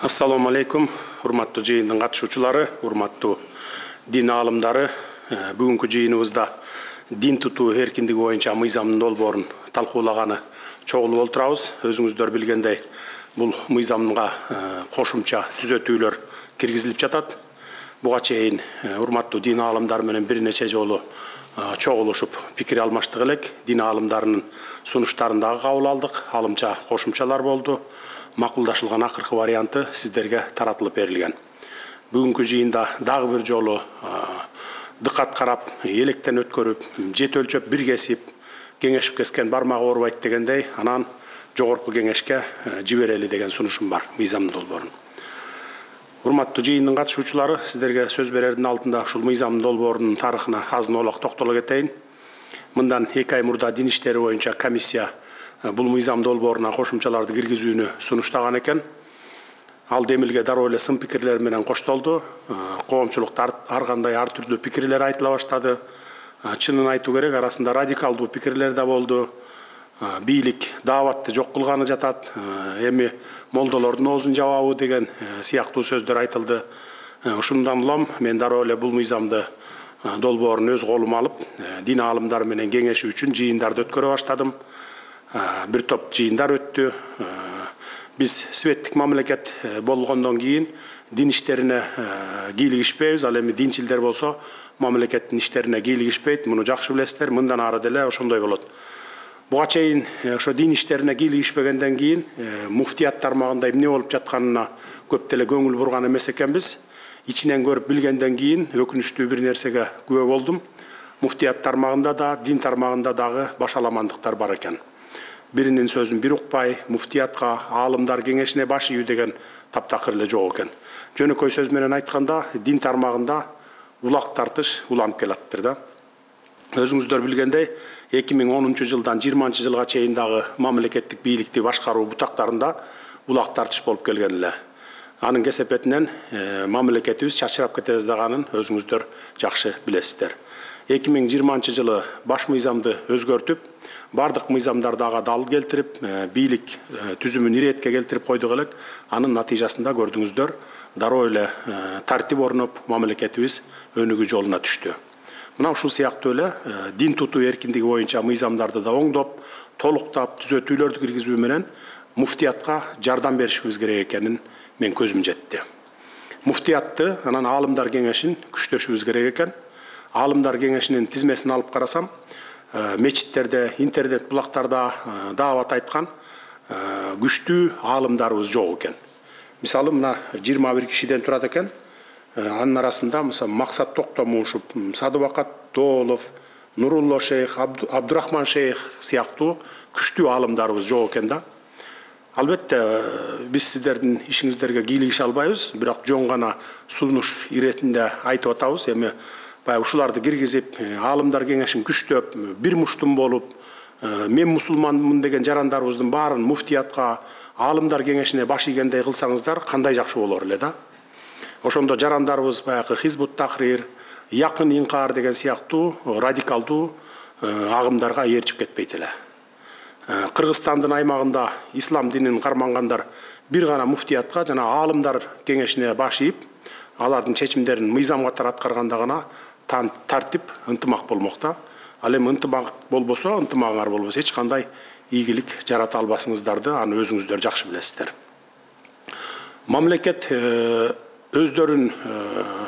Assalamu alaikum, урматтуу жыйындын катышуучулары, урматтуу дин аалымдары. Бүгүнкү жыйыныбызда дин тутуу эркиндиги боюнча мыйзамдын долбоорун талкуулаганы чогулуп олтурабыз. Өзүңүздөр билгендей, бул мыйзамга кошумча түзөтүүлөр киргизилип жатат. Буга чейин урматтуу дин аалымдары менен бир нече жолу чогулушуп пикир алмаштык элек. Дин аалымдарынын сунуштарын дагы кабыл алдык. Алымча кошумчалар болду. Макулдашылган акыркы варианты сиздерге таратылып берилген. Бүгүнкү жыйында дагы бир жолу дыкат карап, электен өткөрүп, жет өлчөп, бир кесип, кеңешип кескен бармагы оорубайт дегендей, анан жогорку кеңешке жиберели деген сунушум бар, мыйзамдын долбоорун. Урматтуу жыйындын катышуучулары, сиздерге сөз берердин алдында ушул мыйзамдын долбоорунун тарыхына азын оолак токтоло кетейин. Мындан 2 ай мурда дин иштери боюнча комиссия бул мыйзам долбооруна кошумчаларды киргизүүнү сунуштаган экен. Ал демилге дароо эле сын пикирлер менен коштолду. Коомчулукта ар кандай ар түрдүү пикирлер айтыла баштады. Чынын айтуу керек, арасында радикалдуу пикирлер да болду. Бийлик дааватты жок кылганы жатат, эми молдолордун оозун жабабы деген сыяктуу сөздөр айтылды. Ушундан улам мен дароо эле бул мыйзамды долбоорун өз колума алып, дин аалымдары менен кеңешүү үчүн жыйындарды өткөрө баштадым. Бир топ жыйындар өттү. Биз светтик мамлекет болгондон кийин дин иштерине кийлигишпейбиз. Ал эми динчилдер болсо мамлекеттин иштерине кийлигишпейт. Муну жакшы билесиздер. Мындан ары деле ошондой болот. Буга чейин ошо дин иштерине кийлигишпегенден кийин муфтият тармагында эмне болуп жатканына көп деле көңүл бурган эмес экенбиз. Ичинен көрүп билгенден кийин өкүнүчтүү бир нерсеге күбө болдум. Муфтият тармагында да, дин тармагында дагы башаламандыктар бар экен. Биринин сөзүн бир укпай, муфтиятка, аалымдар кеңешине баш ийүү деген таптакыр эле жок экен. Жөнөкөй сөз менен айтканда, дин тармагында улак тартыш уланып келаттыр да. Өзүңүздөр билгендей, 2010 жылдан 20 жылга чейин дагы мамлекеттик бийликти башкаруу бутактарында улак тартыш болуп келген эле. Анын кесепетинен мамлекетибиз чачырап кетебиздеганын өзүңүздөр жакшы билесиздер. 2020 жылы баш мыйзамды өзгөртүп, бардык мыйзамдарды ага дал келтирип, бийлик түзүмүн иретке келтирип койдук элек. Анын натыйжасында көрдүңүздөр, дароо эле тартип орноп, мамлекетибиз өнүгүү жолуна түштү. Мына ушул сыяктуу эле дин тутуу эркиндиги боюнча мыйзамдарды да оңдоп, толуктап, түзөтүүлөрдү киргизүү менен муфтиятка жардам беришибиз керек экенин мен көзүм жетти. Муфтиятты, анан аалымдар кеңешин күчтөшүбүз керек экен. Аалымдар кеңешинин тизмесин алып карасам, мечиттерде, интернет булактарда даават айткан күчтүү аалымдарыбыз жок экен. Мисалы, мына 21 кишиден турат экен. Анын арасында мисалы Максат Токтомушев, Садыбакат Доолов, Нурулло шейх, Абдурахман шейх сыяктуу күчтүү аалымдарыбыз жок экен да. Албетте, биз сиздердин ишиңиздерге кийлигише албайбыз, бирок жөн гана сунуш иретинде айтып атабыз. Эми ушуларды киргизип, аалымдар кеңешин күчтөп, бир муштум болуп, мен мусулманмын деген жарандарыбыздын баарын муфтиятка, аалымдар кеңешине баш ийгендей кылсаңыздар, кандай жакшы болор эле да. Ошондо жарандарыбыз баягы Хизбут Тахрир, Якын Инкар деген сыяктуу радикалдуу агымдарга ээрчип кетпейт эле. Кыргызстандын аймагында ислам динин кармангандар бир гана муфтиятка жана аалымдар кеңешине баш ийип, алардын чечимдерин мыйзам катары аткарганда гана тартип, ынтымак болмокта. Ал эми ынтымак болбосо, ынтымагыңар болбосо эч кандай ийгилик жарата албасыңыздарды аны өзүңүздөр жакшы билесиздер. Мамлекет өздөрүн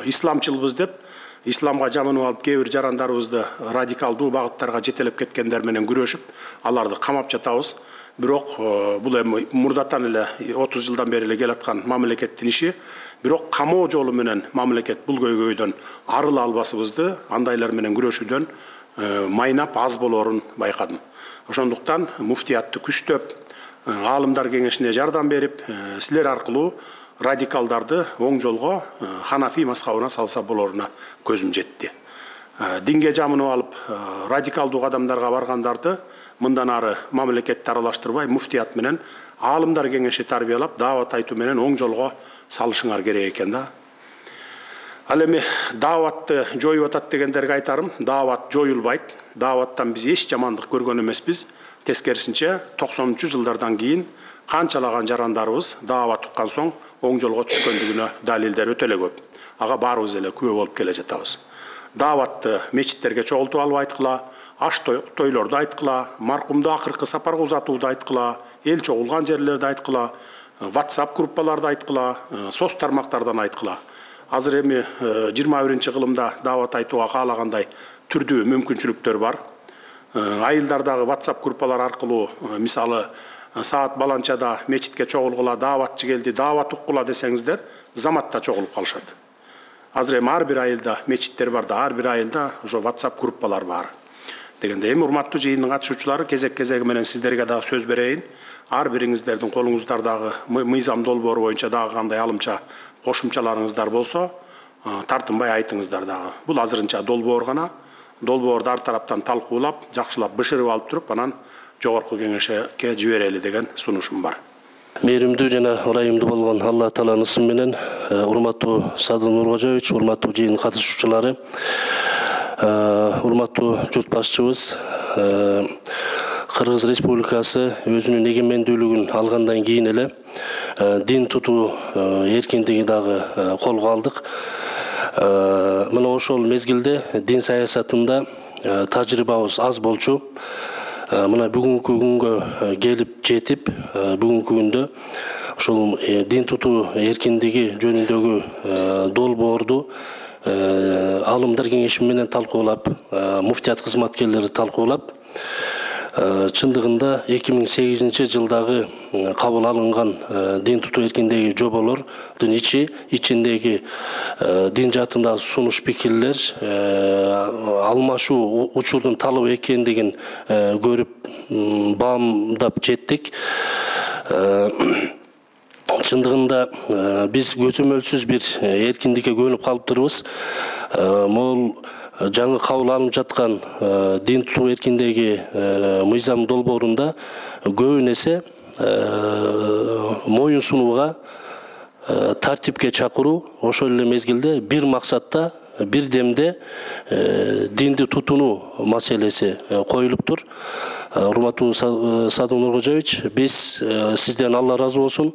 исламчылбыз деп, исламга жаманып алып кээ бир жарандарыбызды радикалдуу багыттарга жетелеп кеткендер менен күрөшүп, аларды камап жатабыз. Бирок бул эми мурдатан эле 30 жылдан бери эле келаткан мамлекеттин иши. Бирок камоо жолу менен мамлекет бул көйгөйдөн арыла албасыбызды, андайлар менен күрөшүүдөн майнап аз болорун байкадым. Ошондуктан муфтиятты күчтөп, аалымдар кеңешине жардам берип, силер аркылуу радикалдарды оң жолго Ханафи мазхабына салса болоруна көзүм жетти. Динге жамынып алып, радикалдуу кадамдарга баргандарды мындан ары мамлекетти аралаштырбай, муфтият менен аалымдар кеңеши тарбиялап, даават айтуу менен оң жолго салышыңар керек экен да. Ал эми дааватты жоюп атат дегендерге айтарым, даават жоюлбайт. Дааваттан биз эч жамандык көргөн эмеспиз. Тескерисинче 90-жылдардан кийин канчалаган жарандарыбыз даават уккан соң оң жолго түшкөндүгүнө далилдер өтө эле көп. Ага баарыбыз эле күбө болуп келе жатабыз. Дааватты мечиттерге чогултуп алып айткыла, аш тойлорду айткыла, маркумду акыркы сапарга узатууду айткыла, эл чогулган жерлерди айткыла, WhatsApp группаларды айткыла, соц тармактардан айткыла. Азыр эми 21-кылымда даават айтууга каалагандай түрдүү мүмкүнчүлүктөр бар. Айылдардагы WhatsApp группалар аркылуу мисалы саат баланчада мечитке чогулгула, дааватчы келди, даават уккула десеңиздер, заматта чогулуп калышат. Азыр эми ар бир айылда мечиттер бар да, ар бир айылда ошо WhatsApp группалар бар. Дегенде эми урматтуу жыйындын катышуучулары кезек-кезеги менен сиздерге дагы сөз берейин. Ар бириңиздердин колуңуздардагы мыйзам долбоору боюнча дагы кандай алымча кошумчаларыңыздар болсо, тартынбай айтыңыздар дагы. Бул азырынча долбоор гана. Долбоорду ар тараптан талкуулап, жакшылап бышырып алып туруп, анан жогорку кеңешке жиберели деген сунушум бар. Мээримдүү жана ырайымдуу болгон Алла Тааланын ысымы менен, урматтуу Садыр Нуркожоевич, урматтуу жыйын катышуучулары, урматтуу журт башчыбыз, Кыргыз Республикасы өзүнүн эгемендүүлүгүн алгандан кийин эле дин тутуу эркиндиги дагы колго алдык. Мына ошол мезгилде дин саясатында тажрыйбабыз аз болчу. Мына бүгүнкү күнгө келип жетип, бүгүнкү күндө ошол дин тутуу эркиндиги жөнүндөгү долбоорду алымдар кеңеши менен талкуулап, муфтият кызматкерлери талкуулап, чындыгында 2008 жылдагы кабыл алынган дин тутуу эркиндиги жоболордун ичиндеги дин жаатындагы сунуш пикирлер алмашуу учурдун талап экендигин көрүп баамдап жеттик. Чындыгында биз көзөмөлсүз бир эркиндикке көнүп калыптырбыз. Могул жаңы кабыл алынып жаткан дин тутуу эркиндиги мыйзам долбоорунда көбүн эсе моюн сунууга, тартипке чакыруу, ошол эле мезгилде бир максатта, бир демде динди тутунуу маселеси коюлуптур. Урматтуу Садыр Нуркожоевич, биз сизден Алла ыраазы болсун.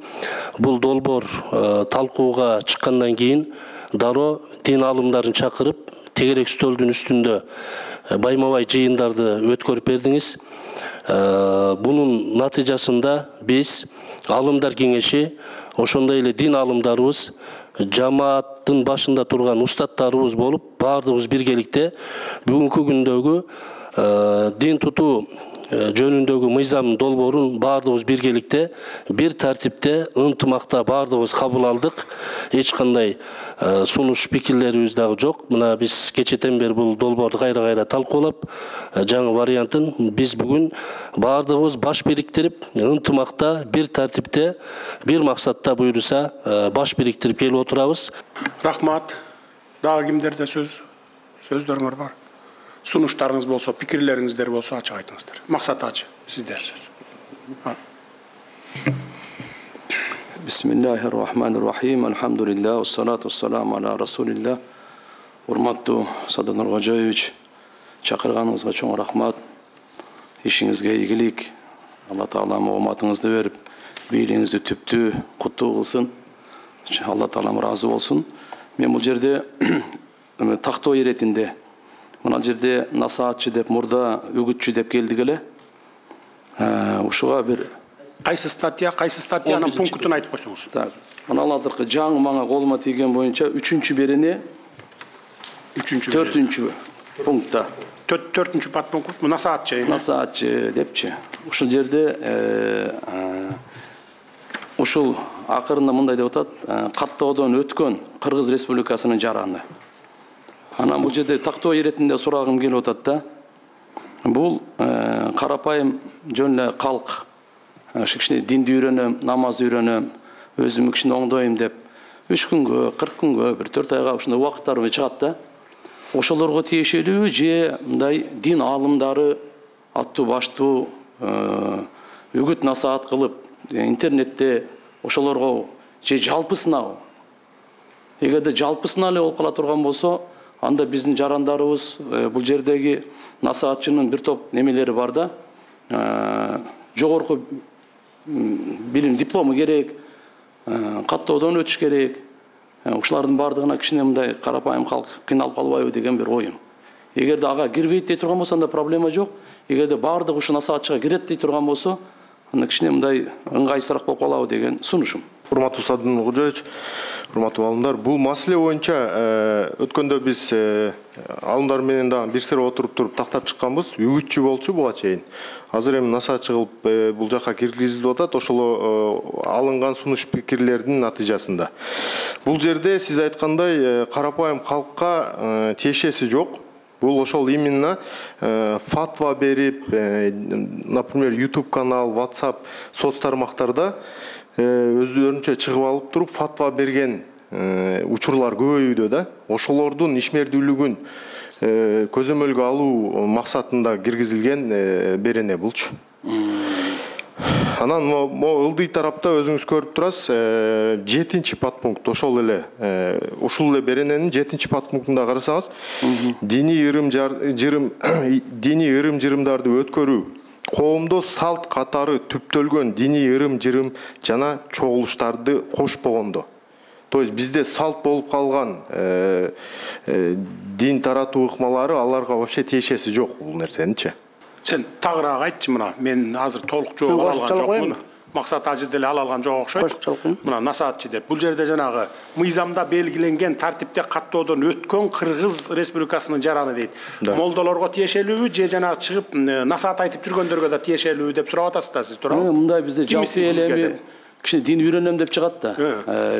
Бул долбоор талкууга чыккандан кийин дароо дин алымдарын чакырып, тегерек стөлдүн үстүндө байма-бай жыйындарды өткөрүп бердиңиз. Бунун натыйжасында биз алымдар кеңеши, ошондой эле дин алымдарыбыз, жамааттын башында турган устаттарыбыз болуп, баардыгыбыз биргеликте бүгүнкү күндөгү дин тутуу жөнүндөгү мыйзам долбоорун баардыгыбыз биргеликте, бир тартипте, ынтымакта баардыгыбыз кабыл алдык. Эч кандай сунуш пикирлерибиз дагы жок. Мына биз кечетен бери бул долбоорду кайра талкуулап, жаңы вариантын биз бүгүн баардыгыбыз баш бириктирип, ынтымакта, бир тартипте, бир максатта буйруса баш бириктирип келип отурабыз. Рахмат. Дагы кимдерде сөздөрүңөр бар? Сунуштарыңыз болсо, пикирлериңиздер болсо ачык айтыңыздар. Максат ачы, сиздер сөз. Бисмиллахир-рахманир-рахим. Алхамдулиллах, ассалату ассаламу аля расулилlah. Урматтуу Садыр Нуркожоевич, чакырганыңызга чоң рахмат. Ишиңизге ийгилик. Алла Таалам ооматыңызды берип, бийлигиңизди түптүү, куттуу кылсын. Алла Таалам ыраазы болсун. Мен бул жерде тактоо иретинде мына жерде насаатчы деп, мурда үгүтчү деп келдик эле. Ушуга бир кайсы статьянын пунктун айтып койсоңуз. Мына азыркы жаңы мага колума тийген боюнча 3-чү берене 4-чү пунктта. 4-чү подпункт насаатчы. Насаатчы депчи. Ушул жерде ушул акырында мындай деп атат, каттоодон өткөн Кыргыз Республикасынын жараны. Анан бул жерде тактоо иретинде сурагым келип атат да. Бул карапайым жөн эле калк, кичине динди үйрөнөм, намазды үйрөнөм, өзүм кичине оңдойм деп 3 күнгө, 40 күнгө, бир 4 айга ушундай убакыттар чыгат да. Ошолорго тиешелүү же мындай дин аалымдары аттуу баштуу үгүт насаат кылып, интернетте ошолорго же жалпысына, эгерде жалпысына эле болуп кала турган болсо, анда биздин жарандарыбыз бул жердеги насаатчынын бир топ немелери бар да, жогорку билим диплому керек, каттоодон өтүш керек. Ушулардын бардыгына кичине мындай карапайым калк кыйналып калбайбы деген бир оюм. Эгерде ага кирбейт дей турган болсо анда проблема жок. Эгерде бардыгы ушу насаатчыга кирет дей турган болсо, анда кичине мындай ыңгайсызраак болуп калабы деген сунушум. Урматтуу Садын Кожоевич, урматтуу алымдар, бул маселе боюнча өткөндө биз алымдар менен дагы бир сыйра отуруп туруп тактап чыкканбыз, үгүтчү болчу буга чейин. Азыр эми насаатчы кылып бул жакка киргизилип атат, ошол алынган сунуш пикирлердин натыйжасында. Бул жерде сиз айткандай карапайым калкка тиешеси жок. Бул ошол именно фатва берип, например, YouTube канал, WhatsApp, соц тармактарда өздөрүнчө чыгып алып туруп фатва берген учурлар көбөйүүдө да. Ошолордун ишмердүүлүгүн көзөмөлгө алуу максатында киргизилген берене булчу. Анан могу ылдый тарапта өзүңүз көрүп турасыз, 7-чи подпункт ошол эле ушул эле берененин 7-чи подпунктунда карасаңыз, диний ырым-жырымдарды өткөрүү, коомдо салт катары түптөлгөн диний ырым-жырым жана чогулуштарды кошпогондо. То есть бизде салт болуп калган дин таратуу ыкмалары аларга вообще тиешеси жок бул нерсеничи. Сен тагыраак айтчы мына, мен азыр толук жооп ала алган жокмун. Максат ажы деле ала алган жок окшойт. Мына насаатчы деп. Бул жерде жанагы мыйзамда белгиленген тартипте каттоодон өткөн Кыргыз Республикасынын жараны дейт. Молдолорго тиешелүүбү же жанагы чыгып насаат айтып жүргөндөргө да тиешелүүбү деп сурап атасыз да сиз, туурабы? Мындай бизде жалпы эле кичине дин үйрөнөм деп чыгат да.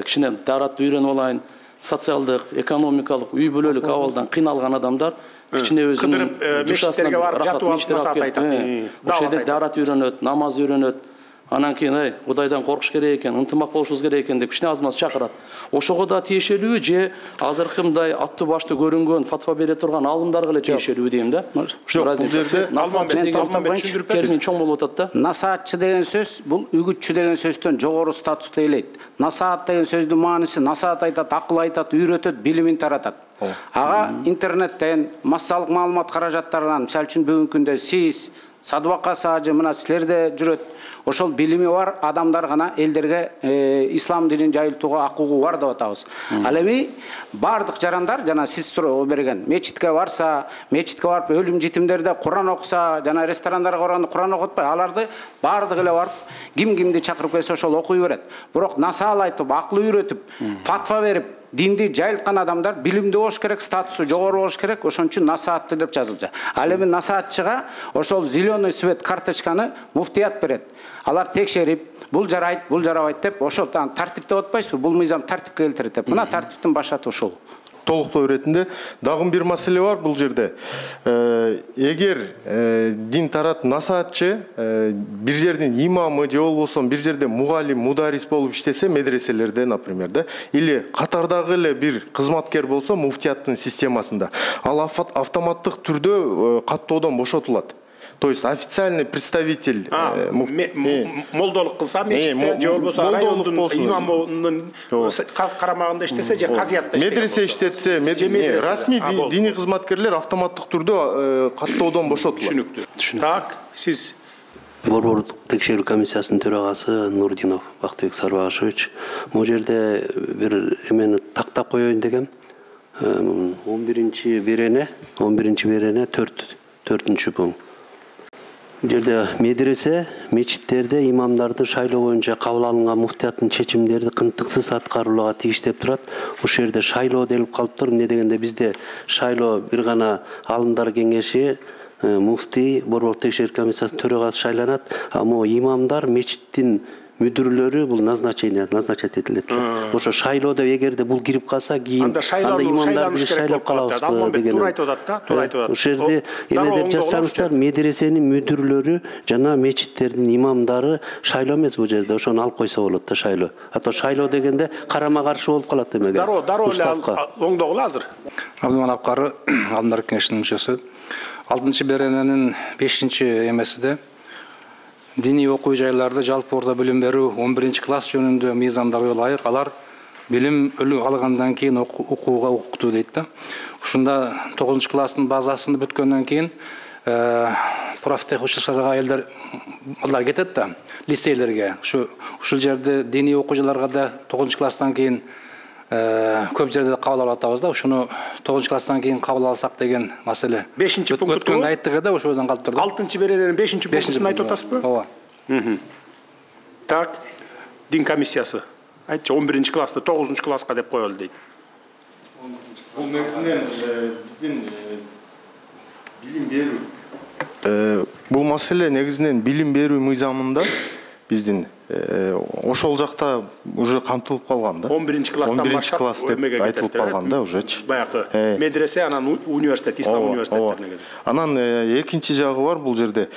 Кичине таратты үйрөнүп алайын, социалдык, экономикалык, үй бүлөлүк абалдан кыйналган адамдар кичине өзүнүн мечиттерге барып жатып алып насаат айтат. Ошол жерде дарат үйрөнөт, намаз үйрөнөт. Анан кийин Кудайдан коркуш керек экен, ынтымак болушубуз керек экен деп кичине аз-маз чакырат. Ошого да тиешелүү же азыркы мындай аттуу баштуу көрүнгөн фатва бере турган алымдарга эле тиешелүү дейм да. Ошол разница. Термин чоң болуп атат да. Насаатчы деген сөз бул үгүтчү деген сөздөн жогору статусту ээлейт. Насаат деген сөздүн мааниси насаат айтат, акыл айтат, үйрөтөт, билимин таратат. Ага интернеттен, массалык маалымат каражаттарынан, мисалы үчүн бүгүнкү күндө сиз, Садыбакка Сажы мына силерде жүрөт. Ошол билими бар адамдар гана элдерге ислам динин жайылтууга акугу бар деп атабыз. Ал эми бардык жарандар жана сиз суроо берген мечитке барса, мечитке барып өлүм житимдерде Куран окуса, жана ресторандарга барганда Куран окутпай, аларды бардык эле барып кимди чакырып келсе ошол окуй берет. Бирок насаал айтып, акыл үйрөтүп, фатва берип, динди жайылткан адамдар билимдүү болуш керек, статусу жогору болуш керек, ошон үчүн насаатты деп жазылчу. Ал эми насаатчыга ошол зеленый свет карточканы муфтият берет. Алар текшерип, бул жарайт, бул жарабайт деп, ошол тартипте отпайсызбы? Бул мыйзам тартипке келтирет деп. Мына тартиптин башаты ушул. Толуктоо иретинде дагы бир маселе бар бул жерде. Эгер дин тарат насаатчы бир жердин имамы же болбосо бир жерде мугалим, мударис болуп иштесе, медреселерде, например, да, или катардагы эле бир кызматкер болсо, муфтияттын системасында, ал автоматтык түрдө каттоодон бошотулат. То есть официальный представитель молдолук кылса мечитте же болбосо райондун имамынын карамагында иштесе же казиятта иштесе, медресе иштетсе, расмий диний кызматкерлер автоматтык түрдө каттоодон бошотулат. Түшүнүктүү. Так, сиз Борбордук текшерүү комиссиясынын төрагасы Нурдинов Бактыбек Сарбагышевич, бул жерде бир эмени тактап коеюн дегем. 11-чи берене 4-чү пункт. Жерде медресе, мечиттерде имамдарды шайлоо боюнча кабыл алынган муфтияттын чечимдерди кынтыксыз аткарууга тийиш деп турат. Ошол жерде шайлоо делип калыптыр. Эмне дегенде бизде шайлоо бир гана алымдар кеңеши, муфтий, борбордук текшерүү комиссиясынын төрагасы шайланат, а могу имамдар, мечиттин мүдүрлөрү бул назначать этилет. Ошо шайлоодо эгерде бул кирип калса, кийин анда имамдарды шайлап калабызбы деген. Туура айтып атат да, туура айтып атат. Ошол жерде эме деп жазсаңыздар, медресенин мүдүрлөрү жана мечиттердин имамдары шайлоо эмес бул жерде, ошону алып койсо болот да шайлоо. А то шайлоо дегенде карама каршы болуп калат эмеге. Дароо эле оңдогулу азыр. Абдыман Апкары, Алдындар кеңешинин мүчөсү. 6-чы берененин 5-чи эмесиде диний окуу жайларда жалпы орто билим берүү 11-чи класс жөнүндө мыйзамдарга ылайык алар билим алгандан кийин окууга укуктуу дейт да. Ушунда 9-чы класстын базасын бүткөндөн кийин профтех училищаларга аялдар балдар кетет да, лицейлерге. Ушул жерде диний окуучуларга да 9-класстан кийин көп жерде кабыл алып атабыз да. Ушуну 9-класстан кийин кабыл алсак деген маселе. 5-пункт өткөндө айттык да, ошодон калып турду. 6-беренин 5-пунктун айтып атасызбы? Ооба. Так, дин комиссиясы. Айтчы 11-класты 9-класска деп коелу дейт. Бул негизинен биздин билим берүү. Бул маселе негизинен билим берүү мыйзамында биздин ошол жакта уже камтылып калган да. 11-класстан баштап деп айтылып калган да уже-чы. Баягы медресе, анан университет, ислам университеттерине кетет. Анан экинчи жагы бар, бул жерде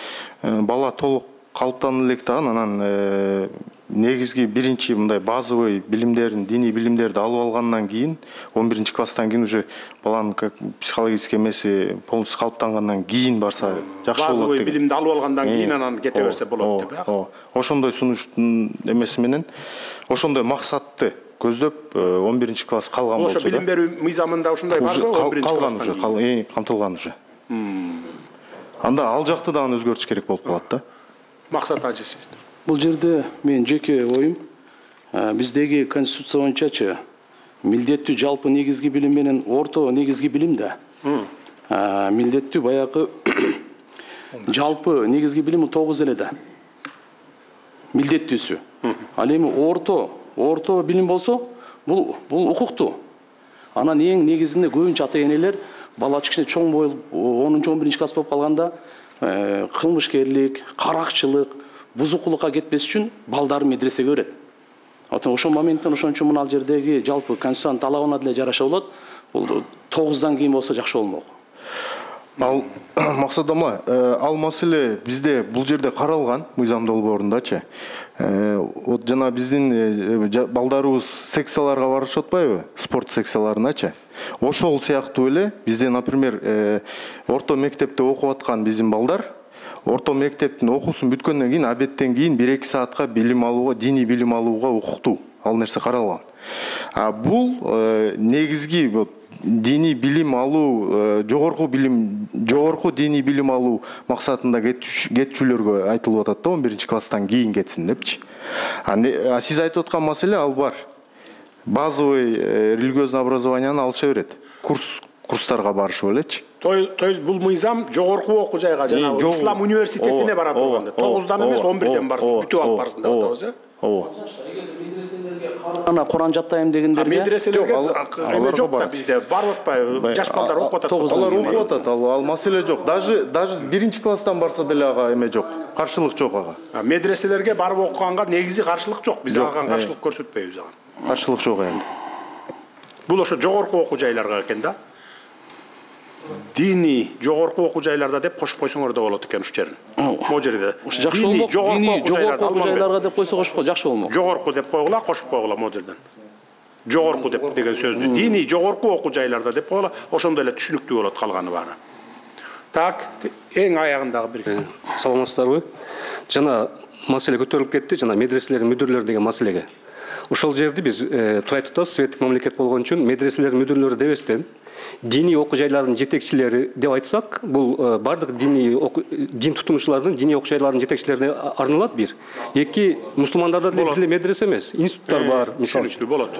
бала толук калыптанып элек дагы анан негизги биринчи мындай базовый билимдерин, диний билимдерди алып алгандан кийин 11-класстан кийин уже баланын психологический эмеси полностью калыптангандан кийин барса жакшы болот. Базовый билимди алып алгандан кийин анан кете берсе болот деп. Ошондой сунуштун эмеси менен, ошондой максатты көздөп 11-класс калган болчу да. Ошо билим берүү мыйзамында ушундай барбы 11-класстан кийин? Камтылган уже. Анда ал жакты дагы өзгөртүш керек болуп калат да. Максат ажы сиз. Бул жерде мен жеке оюм, биздеги конституция боюнчачы милдеттүү жалпы негизги билим менен орто негизги билим да. Милдеттүү баягы жалпы негизги билим 9 эле да. Милдеттүүсү. Ал эми орто билим болсо, бул укуктуу. Анан эң негизинде көбүнчө ата-энелер бала кичине чоң болуп 10-11 класс болуп калганда кылмышкерлик, каракчылык, бузукулукка кетпес үчүн балдарын медресеге берет. Ошол моменттен ошон үчүн мына жердеги жалпы конституциянын талабына деле жараша болот. Бул 9-дан кийин болсо жакшы болмок. Ал максат амла, ал маселе бизде бул жерде каралган мыйзам долбоорундачы. Вот жана биздин балдарыбыз секцияларга барышып атпайбы? Спорт секцияларыначы. Ошол сыяктуу эле бизде, например, орто мектепте окуп аткан биздин балдар орто мектептин окуусун бүткөндөн кийин обедтен кийин 1-2 саатка билим алууга, диний билим алууга укуктуу. Ал нерсе каралган. Бул негизги диний билим алуу, жогорку диний билим алуу максатында кетчүлөргө айтылып атат да, 11-класстан кийин кетсин депчи. Сиз айтып аткан маселе ал бар. Базовый религиозный образованияны алыша берет. Курстарга барышып элечи. То есть бул мыйзам жогорку окуу жайга, жана ислам университетине бара турганда 9-дан эмес 11-ден барсын, бүтүп алып барсын деп атабыз, э? Ооба. Ана Куран жаттайм дегендерге медреселерге эме жок да бизде, барып атпайбы? Жаш балдар окуп атат. Алар окуп атат, ал маселе жок. Даже 1-класстан барса деле ага эме жок. Каршылык жок ага. Медреселерге барып окуганга негизи каршылык жок. Биз ага каршылык көрсөтпөйбүз ага. Каршылык жок энди. Бул ошо жогорку окуу жайларга экен да. Диний жогорку окуу жайларда деп кошуп койсоңор да болот экен ушул жерин. Могу жерде. Жакшы болмок. Диний жогорку окуу жайларга деп койсо кошуп жакшы болмок. Жогорку деп койгула, кошуп койгула могу жерден. Жогорку деп деген сөздү диний жогорку окуу жайларда деп койгула, ошондой эле түшүнүктүү болот калганы баары. Так, эң аягындагы бир. Саламатсыздарбы? Жана маселе көтөрүлүп кетти, жана медреселердин мүдүрлөрү деген маселеге. Ошол жерди биз турай тутабыз, светтик мамлекет болгон үчүн медреселердин мүдүрлөрү дебестен диний окуу жайлардын жетекчилери деп айтсак, бул бардык дин тутумчулардын диний окуу жайлардын жетекчилерине арналат бир. Эки, мусулмандарда деле медресе эмес, институттар бар, мисалы. Болот.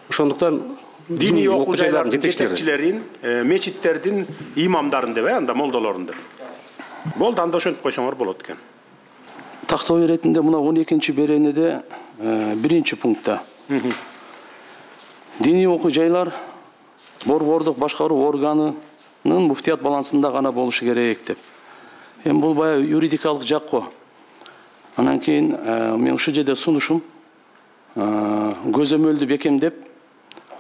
Ошондуктан диний окуу жайлардын жетекчилерин, мечиттердин имамдарын деп, анда молдолорун деп. Болду, анда ошентип койсоңор болот экен. Тактоо иретинде мына 12-чи беренеде 1-чи пунктта диний окуу жайлар борбордук башкаруу органынын муфтият балансында гана болушу керек деп. Эми бул баягы юридикалык жак го. Анан кийин мен ушул жерде сунушум көзөмөлдү бекемдеп,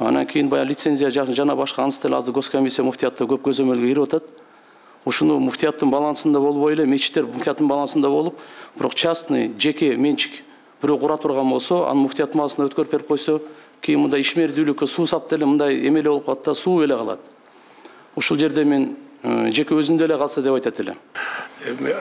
анан кийин баягы лицензия жана башка анысы деле азыр госкомиссия муфтиятта көп көзөмөлгө кирип атат. Ушуну муфтияттын балансында болбой эле, мечиттер муфтияттын балансында болуп, бирок частный, жеке менчик бирөө кура турган болсо, анын муфтият малысына өткөрүп берип койсо, кийин мындай ишмердүүлүккө суу сап деле мындай эмеле болуп калат да, суу эле калат. Ушул жерде мен жеке өзүндө эле калса деп айтат элем.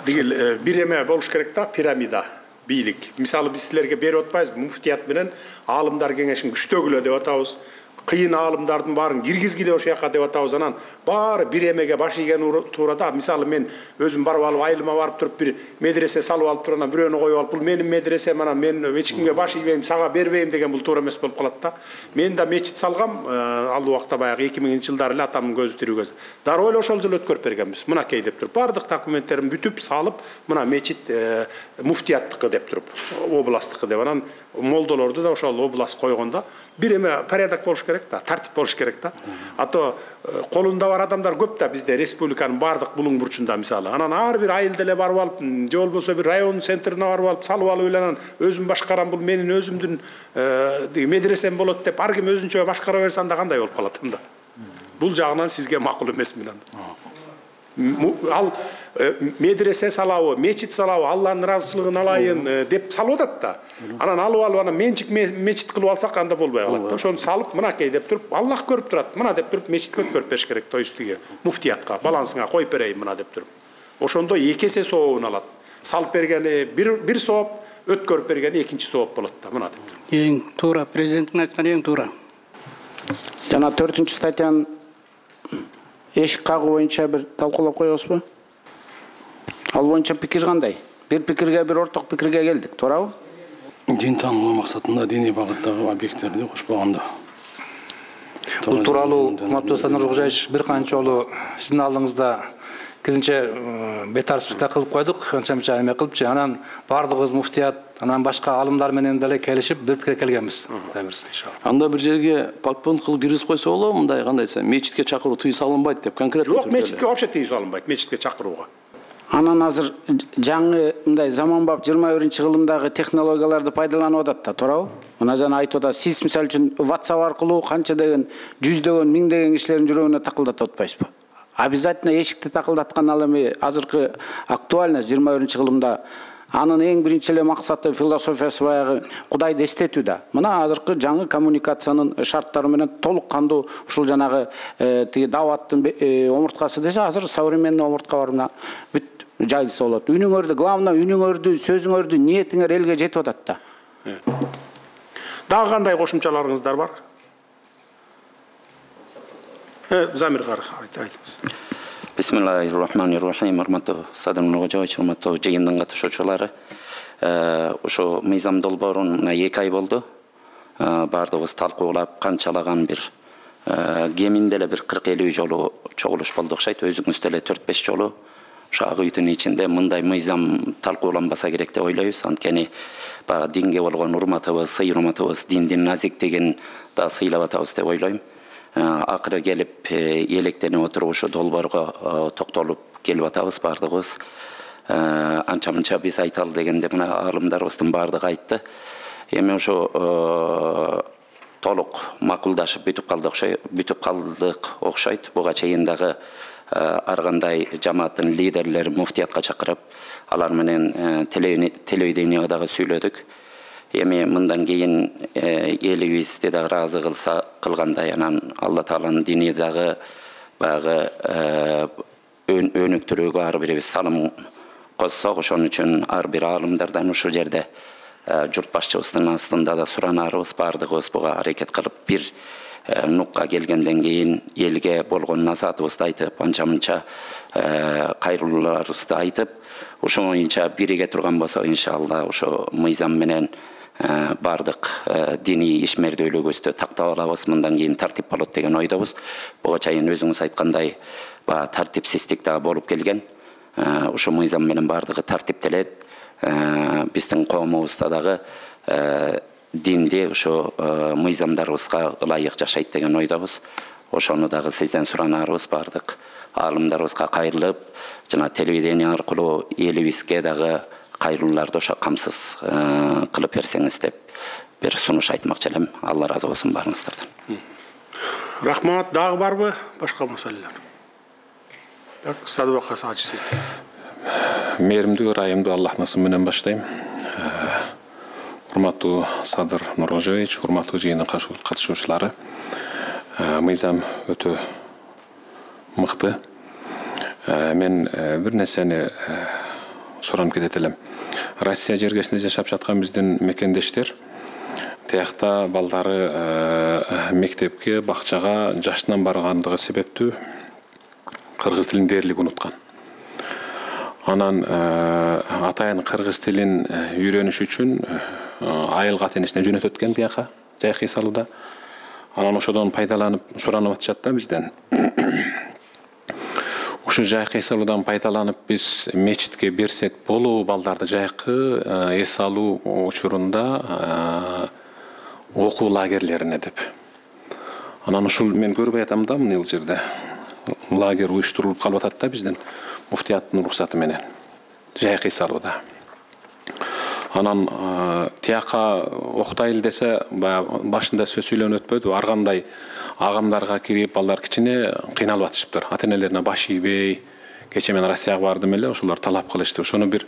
Дегил бир эме болуш керек да, пирамида, бийлик. Мисалы биз силерге берип атпайбызбы, муфтият менен аалымдар кеңешин күчтөгүлө деп атабыз. кыйын аалымдардын баарын киргизгиле ошол жака деп атабыз. Анан баары бир эмеге баш ийген туурада. Мисалы мен өзүм барып алып айылыма барып туруп бир медресе салып алып туруп анан бирөөнү коюп алып бул менин медресем анан мен эч кимге баш ийбейм, сага бербейм деген бул туура эмес болуп калат да. Мен да мечит салгам ал убакта баягы 2000-жылдары эле атамдын көзү тирүү кез. Дароо эле ошол жылы өткөрүп бергенбиз. Мынакей деп туруп баардык документтерин бүтүп салып, мына мечит муфтияттыкы деп туруп, областтыкы деп. Анан молдолорду да ошол област койгондо бир эме порядок болуш керек да, тартип болуш керек да. А то колунда бар адамдар көп да бизде республиканын баардык булуң бурчунда мисалы. Анан ар бир айылда эле барып алып, же болбосо бир район центрине барып алып, салып алып эле анан өзүм башкарам, бул менин өзүмдүн медресем болот деп ар ким өзүнчө башкара берсе анда кандай болуп калат анда. Бул жагынан сизге макул эмес мен анда. Ал медресе салабы, мечит салабы, Алланын ыраазычылыгын алайын деп салып атат да. Анан алып анан менчик мечит кылып алсак анда болбой калат. Ошону салып, мынакей деп туруп, Аллах көрүп турат. Мына деп туруп мечитке өткөрүп бериш керек, то есть муфтиятка, балансыңа коюп берейин мына деп туруп. Ошондо эки эсе сообун алат. Салып бергени бир сооп, өткөрүп бергени экинчи сооп болот да, мына деп туруп. Эң туура, президенттин айтканы эң туура. Жана 4-статьянын эшик кагуу боюнча бир талкуулап коебузбу? Ал боюнча пикир кандай? Бир пикирге, бир орток пикирге келдик, туурабы? Дин таануу максатында диний багыттагы объекттерди кошпогондо. Бул тууралуу урматтуу Садыр Нуркожоевич бир канча жолу сиздин алдыңызда кизинче бетарчылыкта кылып койдук, канча эме кылыпчы. Анан баардыгыбыз муфтият, анан башка алымдар менен деле келишип бир пикирге келгенбиз. Иншалла. Анда бир жерге подпункт кылып киргизип койсо болобу, мындай кандай десем, мечитке чакыруу тыюу салынбайт деп конкретно. Жок, мечитке вообще тыюу салынбайт, мечитке чакырууга. Анан азыр жаңы мындай заманбап 21-кылымдагы технологияларды пайдаланып атат да, туурабы? Мына жана айтып атат, сиз мисалы үчүн WhatsApp аркылуу канча деген, жүздөгөн, миңдеген кишилердин жүрөгүнө такылдатып атпайсызбы? Обязательно эшикти такылдаткан ал эми азыркы актуальность 21-кылымда анын эң биринчи эле максаты, философиясы баягы Кудайды эстетүү да. Мына азыркы жаңы коммуникациянын шарттары менен толук кандуу ушул жанагы тиги даваттын омурткасы десе, азыр современный омуртка бар мына бүт жайылса болот. Үнүңөрдү, главное үнүңөрдү, сөзүңөрдү, ниетиңер элге жетип атат да. Дагы кандай кошумчаларыңыздар бар? Замир кары айтыңыз. Бисмиллахиррахманиррахим. Урматтуу Садыр Нуркожоевич, урматтуу жыйындын катышуучулары. Ошо мыйзам долбооруна 2 ай болду. Бардыгыбыз талкуулап, канчалаган бир кеминде эле бир 40-50 жолу чогулуш болду окшойт. Өзүңүз деле 4-5 жолу ошо агытын ичинде мындай мыйзам талкууланбаса керек деп ойлойбуз. Анткени баягы динге болгон урматыбыз, сый урматыбыз, диндин назиктигин да сыйлап атабыз деп ойлойм. Акыры келип электенип отуруп ушу долбоорго токтолуп келип атабыз бардыгыбыз. Анча-мынча биз айталы дегенде мына аалымдарыбыздын баардыгы айтты. Эми ошо толук макулдашып бүтүп калдык окшойт. Буга чейин дагы ар кандай жамааттын лидерлери муфтиятка чакырып, алар менен телевидениеге дагы сүйлөдүк. Эми мындан кийин элибизди дагы ыраазы кылгандай, анан Алла Тааланын дини дагы баягы өнүктүрүүгө ар бирибиз салым коссок, ошон үчүн ар бир аалымдардан ушул жерде журт башчыбыздын астында да суранарыбыз, бардыгыбыз буга аракет кылып бир нукка келгенден кийин элге болгон насаатыбызды айтып, анча-мынча кайрылууларыбызды айтып, ошо боюнча бириге турган болсок, иншалла ошо мыйзам менен бардык диний ишмердүүлүгүбүздү тактап алабыз, мындан кийин тартип болот деген ойдобуз. Буга чейин өзүңүз айткандай тартипсиздик дагы болуп келген. Ошо мыйзам менен бардыгы тартиптелет. Биздин коомубузда дагы динди ошо мыйзамдарыбызга ылайык жашайт деген ойдобуз. Ошону дагы сизден суранарыбыз, бардык аалымдарыбызга кайрылып, жана телевидение аркылуу элибизге дагы кайрылууларды ошо камсыз кылып берсеңиз деп бир сунуш айтмакчы элем. Алла ыраазы болсун баарыңыздардан. Рахмат. Дагы барбы башка маселелер? Так, Садыбек Асач сиз. Мээримдүү, ырайымдуу Аллахтын менен баштайм. Урматтуу Садыр Нуркожоевич, урматтуу жыйындын катышуучулары. Мыйзам өтө мыкты. Мен бир нерсени суранып кетет элем. Россия жергесинде жашап жаткан биздин мекендештер Тиякта балдары мектепке, бакчага жашынан баргандыгы себептүү кыргыз тилин дээрлик унуткан. Анан атайын кыргыз тилин үйрөнүш үчүн айыл катенесине жөнөтөт экен бияка, жайкы салууда. Анан ошодон пайдаланып суранып атышат да бизден. Ушу жайкы салуудан пайдаланып биз мечитке берсек болобу балдарды жайкы эс алуу учурунда окуу лагерлерине деп. Анан ушул мен көрбөй атам да мына бул жерде лагерь уюштурулуп калып атат да бизден муфтияттын уруксаты менен жайкы салууда. Анан тияка октайлы десе башында сөз сүйлөнүп өтпөдү. Ар кандай агамдарга кирип балдар кичине кыйналып атышыптыр. Ата-энелерине баш ийбей, кече мен Россияга бардым эле, ошолор талап кылышты. Ошону бир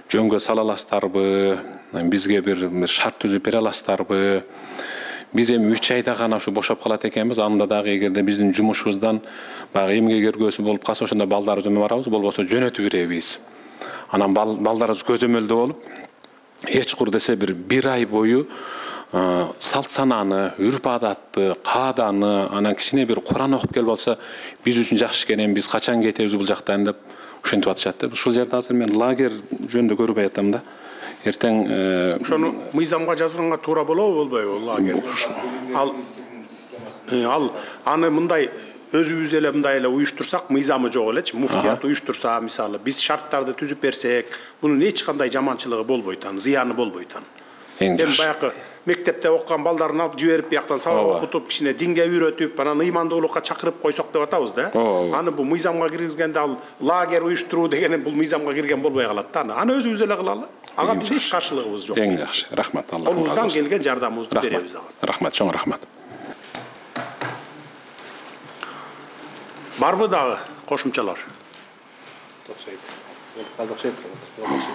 жөнгө сала аласыздарбы? Бизге бир шарт түзүп бере аласыздарбы? Биз эми 3 айда гана ушу бошоп калат экенбиз. Анда дагы эгерде биздин жумушубуздан баягы эмгек эргөөсү болуп калса, ошондо балдарыбызды барабыз, болбосо жөнөтүп беребиз. Анан балдарыбыз көзөмөлдө болуп, эч кур десе бир ай бою салт сананы, үрп адатты, кааданы, анан кичине бир Куран окуп келип алса, биз үчүн жакшы экен, биз качан кетебиз бул жактан деп ушинтип атышат да. Ушул жерде азыр мен лагерь жөнүндө көрбөй атам да. Эртең ошону мыйзамга жазганга туура болобу, болбойбу лагерь? Ал аны мындай өзүбүз эле мындай эле уюштурсак, мыйзамы жок элечи, муфтият уюштурса, мисалы, биз шарттарды түзүп берсек, бунун эч кандай жаманчылыгы болбойт, зыяны болбойт. Эми баягы мектепте окуган балдарын алып жиберип, бияктан сабак окутуп, кичине динге үйрөтүп, анан ыймандуулукка чакырып койсок деп атабыз да. Аны бул мыйзамга киргизгенде ал лагерь уюштуруу деген бул мыйзамга кирген болбой калат да. Аны өзүбүз эле кылалы. Ага биз эч каршылыгыбыз жок. Эң жакшы. Рахмат. Алла колубуздан келген жардамыбызды беребиз ага. Рахмат, чоң рахмат. Барбы дагы кошумчалар?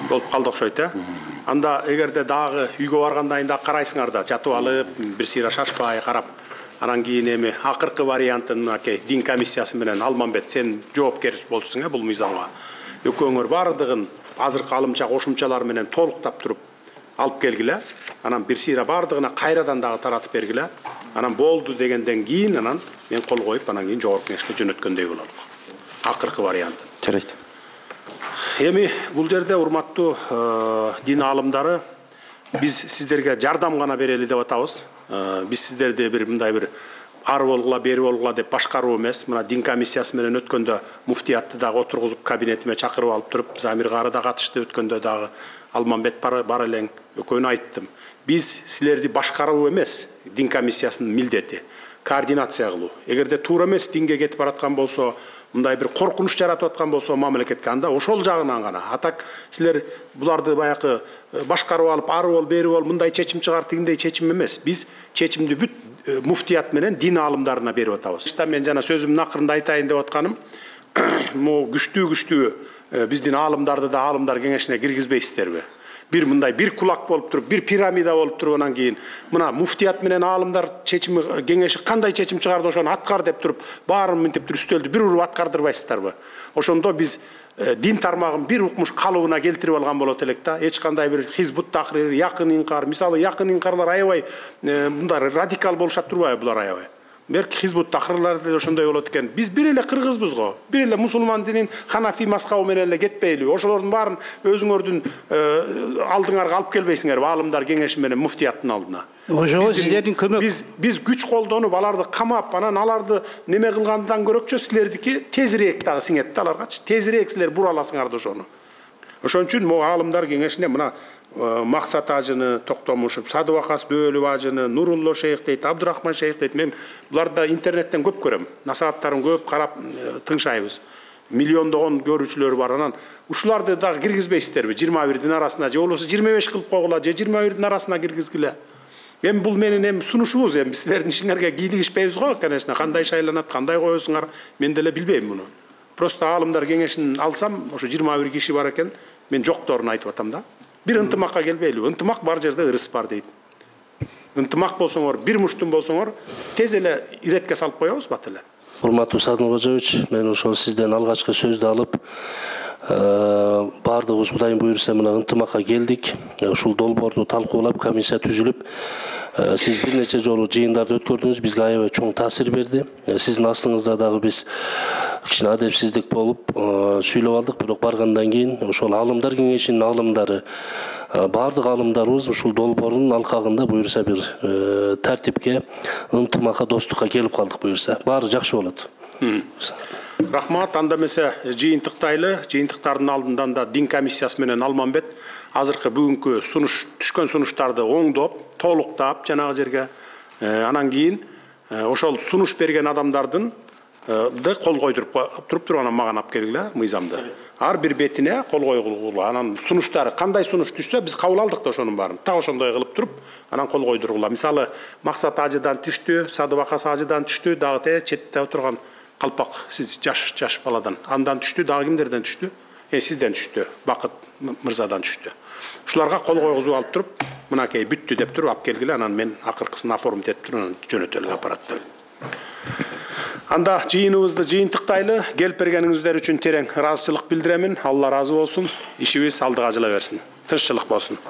Болуп калды окшойт, э? Анда эгерде дагы үйгө баргандан да карайсыңар да, жатып алып, бир сыйра шашпай карап, анан кийин эми акыркы вариантын дин комиссиясы менен Алмамбет сен жоопкер болчусуң бул мыйзамга. Экөөңөр бардыгын азыркы алымча кошумчалар менен толуктап туруп алып келгиле. Анан бир сыйра бардыгына кайрадан дагы таратып бергиле. Анан болду дегенден кийин анан мен кол коюп, анан кийин жогорку кеңешке жөнөткөндөй бололук. Акыркы вариант. Жарайт. Эми бул жерде урматтуу дин аалымдары, биз сиздерге жардам гана берели деп атабыз. Биз сиздерди бир мындай бир ар болгула, бери болгула деп башкаруу эмес. Мына дин комиссиясы менен өткөндө муфтиятты дагы отургузуп кабинетиме чакырып алып туруп, Замир кары да катышты өткөндө дагы, Алмамбет бар элең, экөөнү айттым. Биз силерди башкаруу эмес, дин комиссиясынын милдети, координация кылуу. Эгерде туура эмес динге кетип бараткан болсо, мындай бир коркунуч жаратып аткан болсо мамлекетке, анда ошол жагынан гана. Атак силер буларды баягы башкарып алып, ары бол, бери бол, мындай чечим чыгар, тигиндей чечим эмес. Биз чечимди бүт муфтият менен дин аалымдарына берип атабыз. Мен жана сөзүмдүн акырында айтайын деп атканым, могу күчтүү биздин аалымдарды да аалымдар кеңешине киргизбейсиздерби? Бир мындай бир кулак болуп туруп, бир пирамида болуп туруп, анан кийин мына муфтият менен аалымдар чечими кеңеши кандай чечим чыгарды ошону аткар деп туруп, баарын мынтип туруп үстөлдү бир уруп аткардырбайсыздарбы? Ошондо биз дин тармагын бир укмуш калыбына келтирип алган болот элек да. Эч кандай бир хизбут тахрир, якын инкар, мисалы якын инкарлар аябай мындай радикал болушат турбайбы булар аябай? Берки хизбут тахрирлар да ошондой болот экен. Биз бир эле кыргызбыз го. Бир эле мусулман динин ханафи мазхабы менен эле кетпейли. Ошолордун баарын өзүңөрдүн алдыңарга алып келбейсиңерби? Аалымдар кеңеши менен муфтияттын алдына. Ошого сиздердин көмөк. Биз күч колдонуп аларды камап, анан аларды неме кылгандан көрөкчө силердики тезирээк дагы сиңет да аларгачы. Тезирээк силер бура аласыңар да ошону. Ошон үчүн могу аалымдар кеңешине мына Максат ажыны, Токтомушев, Садыбакас Бөлүп ажыны, Нурулло шейх дейт, Абдурахман шейх дейт. Мен буларды интернеттен көп көрөм. Насааттарын көп карап тыңшайбыз. Миллиондогон көрүүчүлөр бар. Анан ушуларды дагы киргизбейсиздерби? 21-дин арасына же болбосо 25 кылып койгула, же 21-дин арасына киргизгиле. Эми бул менин эми сунушубуз, эми силердин ишиңерге кийлигишпейбиз го, конечно. Кандай шайланат, кандай коесуңар, мен деле билбейм муну. Просто аалымдар кеңешин алсам, ошо 21 киши бар экен, мен жокторун айтып атам да. Бир ынтымакка келбейли. Ынтымак бар жерде ырыс бар дейт. Ынтымак болсоңор, бир муштун болсоңор, тез эле иретке салып коебуз бат эле. Урматтуу Садыр Кожоевич, мен ошол сизден алгачкы сөздү алып, баардыгыбыз Кудайым буйрса мына ынтымакка келдик. Ушул долбоорду талкуулап, комиссия түзүлүп, Сиз бир нече жолу жыйындарды өткөрдүңүз, бизге аябай чоң таасир берди. Сиздин астыңызда дагы биз кичине адепсиздик болуп сүйлөп алдык, бирок баргандан кийин ошол аалымдар кеңешинин аалымдары, баардык аалымдарыбыз ушул долбоордун алкагында буюрса бир тартипке, ынтымакка, достукка келип калдык буюрса. Баары жакшы болот. Рахмат. Анда эмесе жыйынтыктайлы, жыйынтыктардын алдынан да дин комиссиясы менен Алмамбет азыркы бүгүнкү түшкөн сунуштарды оңдоп, толуктап жанагы жерге, анан кийин ошол сунуш берген адамдардын кол койдуруп туруп анан мага алып келгиле мыйзамды. Ар бир бетине кол койгула. Анан сунуштары кандай сунуш түшсө биз кабыл алдык да ошонун баарын. Так ошондой кылып туруп, анан кол койдургула. Мисалы, Максат ажыдан түштү, Садыбакас ажыдан түштү, дагы четте отурган Калпак, сиз жаш баладан. Андан түштү, дагы кимдерден түштү? Сизден түштү, Бакыт мырзадан түштү. Ушуларга кол койгузуп алып туруп, мынакей бүттү деп туруп алып келгиле, анан мен акыркысын оформить этип туруп, анан жөнөтөлгө аппараттан. Анда жыйыныбызды жыйынтыктайлы, келип бергениңиздер үчүн терең ыраазычылык билдиремин. Алла ыраазы болсун. Ишибиз алдыга жыла берсин. Тынччылык болсун.